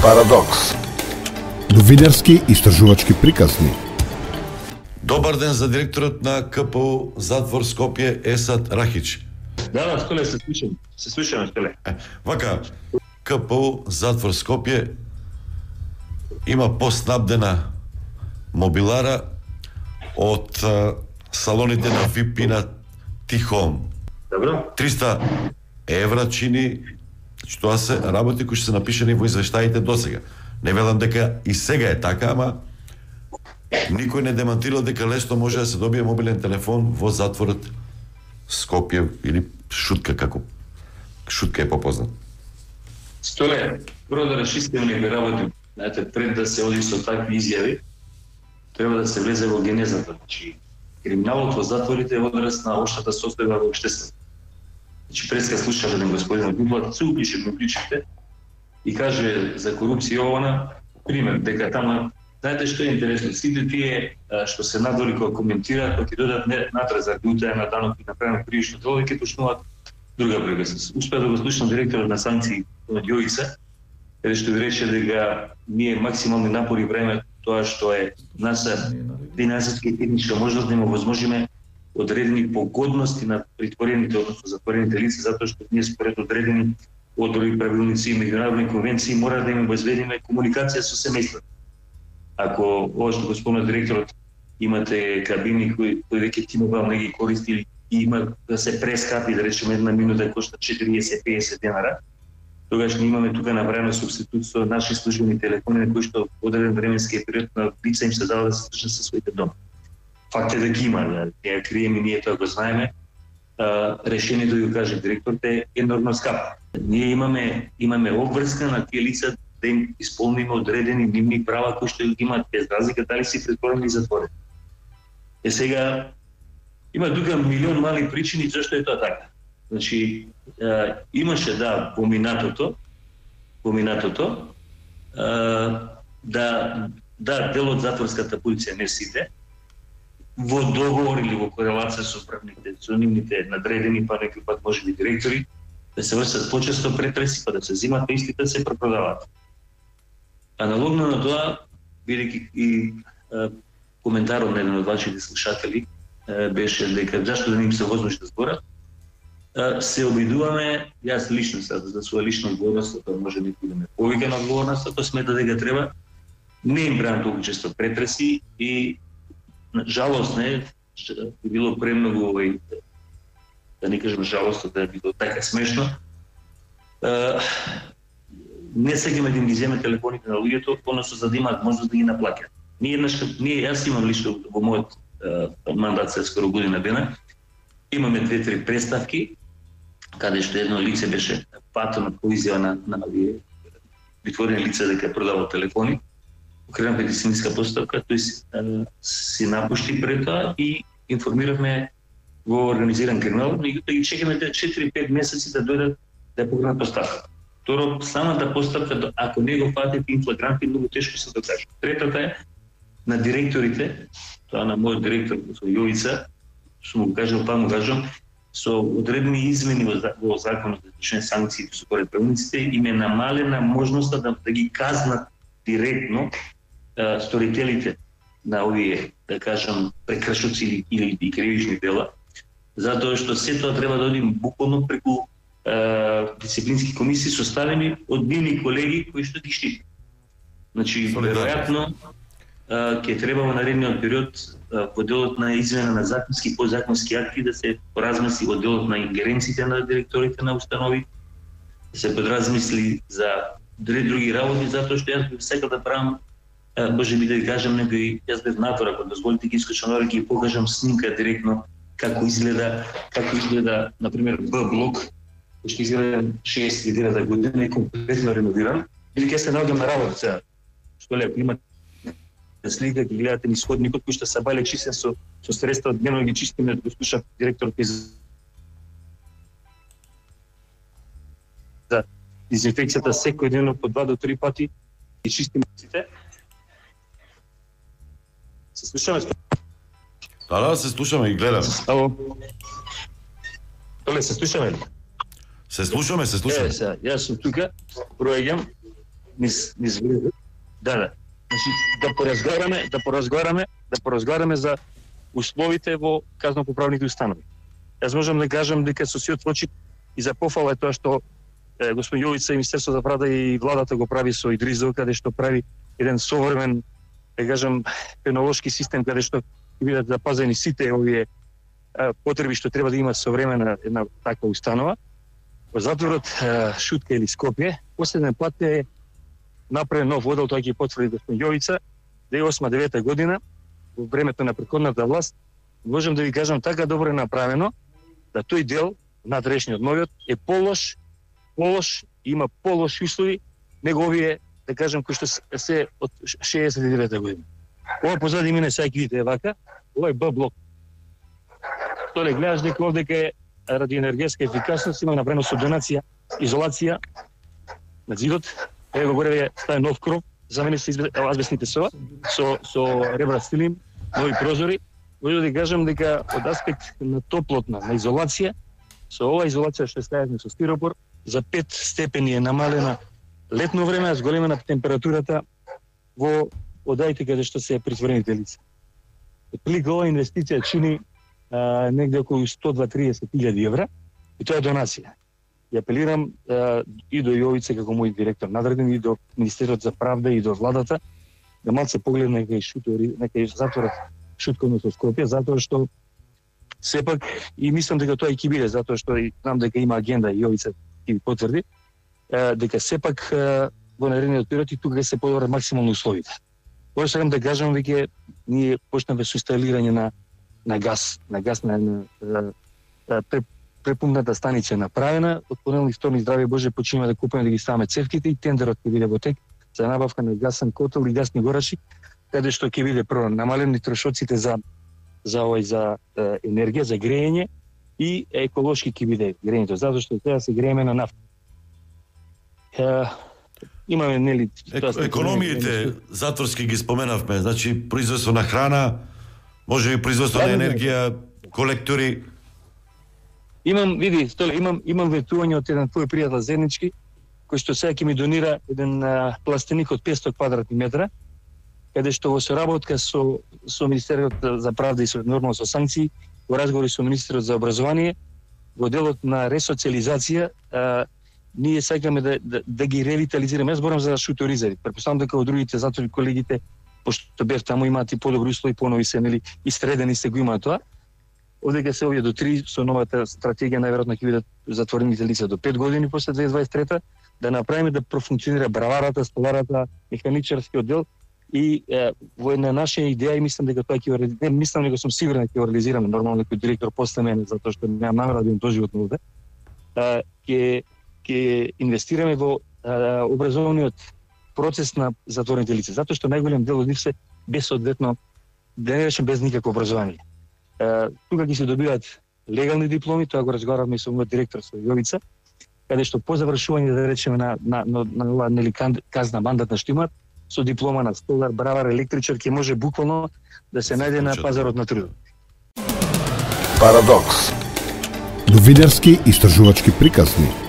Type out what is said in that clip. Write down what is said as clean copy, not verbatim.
Парадокс. Новинарски истражувачки приказни. Добар ден за директорот на КПУ Затвор Скопје Есад Рахич. Да, Столе, се слушам. Се слушаме, Столе. Вака, КПУ Затвор Скопје има поснабдена мобилара од салоните на VIP и на Тихом. Добро. 300 евра чини, тоа се работи кои што се напишани во извештаите досега. Не велам дека и сега е така, ама никој не демантирал дека лесно може да се добие мобилен телефон во затворот Скопје или Шутка, како Шутка е попознат. Столе, прво да расчистиме некои работи. Знаете, пред да се оди со такви изјави, треба да се влезе во генезата. Значи, криминалот во затворите е одраз на општата состојба во општеството. Значи, преска слушав еден господин Гублат, се упише, ми причите, и каже за корупција овона, пример, дека тама, знаете што е интересно, сите тие што се надвори кога коментираат, кога ќе додат натраз за утаја на данок и направено кривично дело, ќе почнуваат друга приказка. Успеа да го слушам директорот на санкции од Јовица, каде што ви рече дека ние максимални напори време тоа што е наша финансиска и техничка можност да им овозможиме одредени погодности на притворените, односно затворените лица, затоа што ние според одредени одредени правилници и меѓународни конвенции мора да им обезбедиме комуникација со семејството. Ако ова што го спомна директорот, имате кабини кои веќе T-Mobile не ги користи или има да се прескапи, да речеме една минута кошта 40-50 денара, тогаш ние имаме тука направено субститут со наши службени телефони на кои што одреден временски период на лица им се дава да се слушнат со своите дома. Факт е дека има, да ја криеме, ние тоа го знаеме. Решението ја каже директорот е енормно скапо. Ние имаме обврска на тие лица да им исполниме одредени нивни права кои што ги имаат без разлика дали си претворени или затворени. Сега има тука милион мали причини зашто е тоа така. Значи имаше поминатото да дел од затворската полиција, не сите, во договор или во корелација со управните, со нивните надредени, па некој пат можеби директори, да се вршат почесто претреси, па да се зимат истите, да се препродаваат. Аналогно на тоа, бидејќи и коментарот на еден од вашите слушатели беше дека зашто да не им се возможи да зборат, се обидуваме, јас лично за своја лична одговорност, тоа може некој да ме повика на одговорност, тоа смета дека треба, не им бран толку често претреси и жалост не би било премногу да не кажем жалост, да би било така смешно. Не сегаме да им ги земе телефоните на луѓето, односно за да имаат можност да ги наплаќаат. Јас имам лично во мојот мандат се скоро година дена, имаме 2-3 представки, каде што едно лице беше патено по изјава на притворени лица дека продаваат телефони. Покренав медицинска постапка, тој си напушти пред тоа и информиравме во организиран криминал, меѓутоа ги чекаме 4-5 месеци да дојдат да ја покренат постапка. Второ, самата постапка, ако не го фатите инфлагранти, многу тешко се докаже. Третата е на директорите, тоа на мојот директор со Јовица, што му кажал, па му кажам, со одредени измени во законот за извршени санкции според правилниците им е намалена можноста да ги казнат директно сторителите на овие, да кажам, прекршоци или кривични дела, затоа што се тоа треба да оди буквално преку дисциплински комисии составени од нивни колеги кои што ги штитат. Значи, веројатно ќе треба во наредниот период во делот на измена на законски и подзаконски акти да се поразмисли во делот на ингеренциите на директорите на установи, да се подразмисли за други работи, затоа што јас би сакал да правам, може би да ви кажам некој, јас бев натвор, ако дозволите ги искачам нора, ќе покажам снимка директно како изгледа, например, Б-блок, кој што изгледа 69 година и комплетно реновиран, или ќе се наоѓам на работа сега, што лепо има слика, ги гледате низ ходникот кој што се бале чистен со средства, дневно ги чистиме, го слушав директорот за дезинфекцијата секој ден по 2 до 3 пати и чистиме сите. Се слушаме? Да, се слушаме и гледаме. Ало. Толе, се слушаме ли? Се слушаме. Сега, јас сум тука, проаѓам. низ да. Значи да поразговараме за условите во казнопоправните установи. Јас можам да кажам дека со сиот очи и за пофала е тоа што господин Јовица и Министерството за правда и владата го прави со Идризов, каде што прави еден современ, да кажам, пенолошки систем каде што ќе бидат запазени сите овие потреби што треба да има современа една таква установа. Во затворот Шутка или Скопје, последен пат е направен нов одел, тоа ќе потврди господин Јовица, 2008-2009 година, во времето на претходната власт, можам да ви кажам така добро е направено, да тој дел, надрешниот новиот, е полош, има полоши услови, него овие, да кажам, кои што се од 69 година. Ова позади мене сега ќе видите вака, ова е Б блок. Толе гледаш дека овдека е ради енергетска ефикасност, има направено со донација, изолација на зидот. Ево горе е стаја нов кров, за мене се азбестните со ребра стилим, нови прозори. Може да кажам дека од аспект на топлотна, на изолација, со ова изолација што ставаме со стиропор, за 5 степени е намалена летно време, зголемена температурата во одаите каде што се притворените лица. Отприлика ова инвестиција чини негде околу 120-30.000 евра и тоа е донација. Ја апелирам и до Јовица како мој директор надреден и до Министерството за правда и до владата да малце погледне нека затворат Шутковно со Скопје, затоа што сепак и мислам дека тоа и ќе биде, затоа што и знам дека има агенда и Јовица ќе потврди дека сепак во наредниот период и тука се подобрат максимално условите. Тоа сакам да кажам веќе ние почнавме со инсталирање на газ на препумната станица е направена, од понеделник, вторник, здравје Боже, почнеме да купуваме да ги ставаме цевките и тендерот ќе биде во тек за набавка на гасен котел и гасни горачи, каде што ќе биде прво намалени трошоците за енергија, за грејење и еколошки ќе биде грејењето, затоа што сега се грееме на нафта. Имаме нели економиите затворски ги споменавме, значи производство на храна, може и производство на енергија, колектори. Имам ветување од еден твој пријател заеднички, кој што сега ќе ми донира еден пластеник од 500 квадратни метра, каде што во соработка со Министерството за правда и нормално со санкции, во разговори со Министерот за образование, во делот на ресоциализација, ние сакаме да ги ревитализираме. Јас зборам за шуторизери. Претпоставам дека во другите затвори колегите, пошто бев таму, имаат и подобри услови, понови се, нели, истредени се го имаат тоа. Овдека се овие до 3 со новата стратегија најверојатно ќе бидат затворените лица до 5 години после 2023 да направиме да профункционира браварата, столарата, механичарскиот дел и во една наша идеја и мислам дека тоа ќе не мислам дека сум сигурен дека ќе реализираме нормално некој директор после мене затоа што немам намера да бидам доживотно овде. Ќе инвестираме во образовниот процес на затворените лица, затоа што најголем дел од нив се безсоодветно, да не речем без никакво образование. Тука ќе се добиваат легални дипломи, тоа го разговаравме со мојот директор со Јовица, каде што по завршување да речеме на нели казна мандатна што имаат, со диплома на столар, бравар, електричар ќе може буквално да се најде на пазарот на трудот. Парадокс. Новинарски истражувачки приказни.